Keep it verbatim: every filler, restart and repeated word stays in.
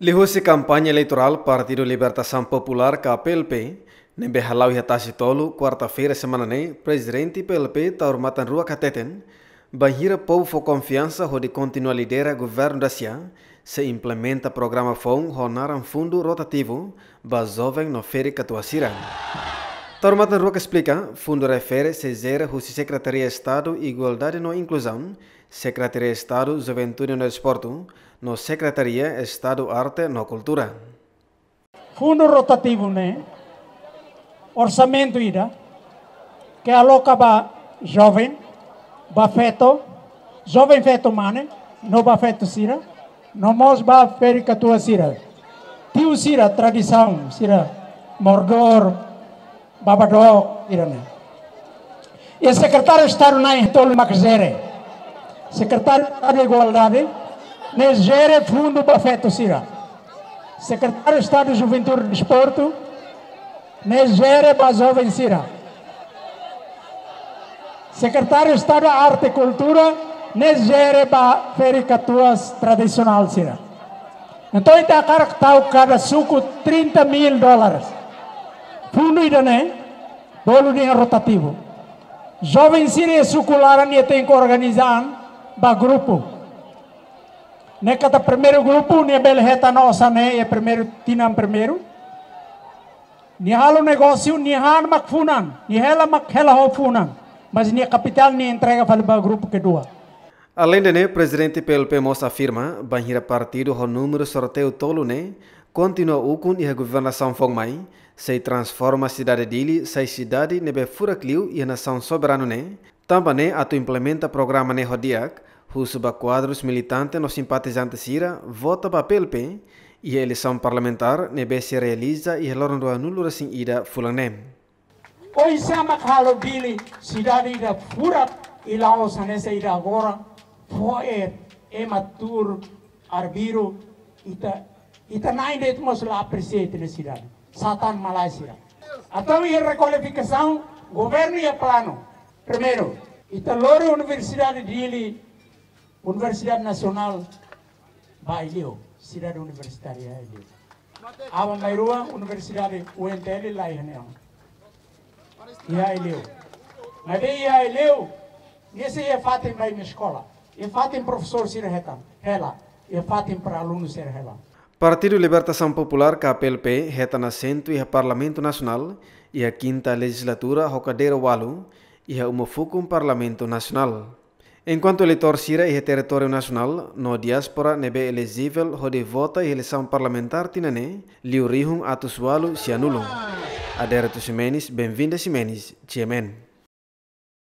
Liuhusi kampaña eleitorál Partidu Libertasaun Populár ka P L P, ne'ebé hala'o iha Tasitolu, kuarta-feira semana ne'e, Prezidente P L P Taur Matan Ruak hateten, bainhira povu fó konfiansa hodi kontinua lidera governu da-sia, sei implementa programa foun ho naran fundu rotativu ba joven no ferik-katuas sira. Taur Matan Ruak esplika, fundu refere sei jere husi Sekretaria Estadu Igualdade no Inkluzaun, Sekretaria Estadu Juventude no Desportu, no Sekretaria Estadu Arte no Kultura. Fundu rotativu ne'e orsamentu ida ke aloka ba joven, ba feto, joven feto mane, no ba feto sira, no mós ba ferik-katuas sira. Tiu sira tradisaun sira, moradór, babadó sira-ne'e. I Sekretáriu Estadu na'in-tolu mak jere. Sekretáriu Estadu Igualdade, ne'e jere fundu ba feto sira. Sekretáriu Estadu Juventude Desportu, ne'e jere ba joven sira. Sekretáriu Estadu Arte Kultura, ne'e jere ba ferik-katuas tradisionál sira. Entaun, ita hakarak tau kada suku trinta mil dólares. Fundu ida-ne'e, bolu nia rotativu. Joven sira iha suku laran nia tenke organiza an ba grupu. Ne'e katak primeiru grupu, nia bele hetan osan ne'e iha primeiru tinan primeiru. Nia halo negósiu, nia han mak funan, nia hela mak hela ho funan. Mas nia kapitál nia entrega fali ba grupu kedua. Aleinde ne'e, Prezidente P L P mós afirma, bainhira partidu ho númeru sorteiu tolu ne'e kontinua ukun iha governasaun foun mai, sei transforma sidade Dili sai sidade ne'ebé furak liu iha nasaun soberanu ne'e, tanba ne'e atu implementa programa ne'e ho di'ak, husu ba kuadrus militante no simpatizante sira vota ba P L P iha eleisaun parlamentár ne'ebé sei realiza iha loron ruanulu-resin-ida fulan ne'e. Oinsá mak halo Dili sidade ida furak i la'ós hanesan ida agora, fo'er, ema tuur, arbiru, ita, ita na'in de'it mós la apresia ita-nia sidade. Satan malae sira. Entaun iha rekualifikasaun, governu iha planu. Primeiru, ita lori Universidade Dili, Universidade Nasionál, ba Aileu, sidade universitária Aileu. Aban-bainrua universidade U N T L la iha ne'e. Iha Aileu. Maibé iha Aileu, nia sei iha fatin ba imi eskola. Iha fatin profesór sira hetan, hela. Iha fatin para alunu sira hela. Partidu Libertasaun Populár ka P L P hetan asentu iha Parlamentu Nasionál, iha kinta lejizlatura ho kadeira ualu, iha uma fukun Parlamentu Nasionál. Enkuantu eleitór sira iha territóriu nasionál no diáspora ne'ebé elejivel hodi vota iha eleisaun parlamentár tinan ne'e, liu rihun atus ualu sianulu. Adérito Ximenes, Benvinda Ximenes, G M N.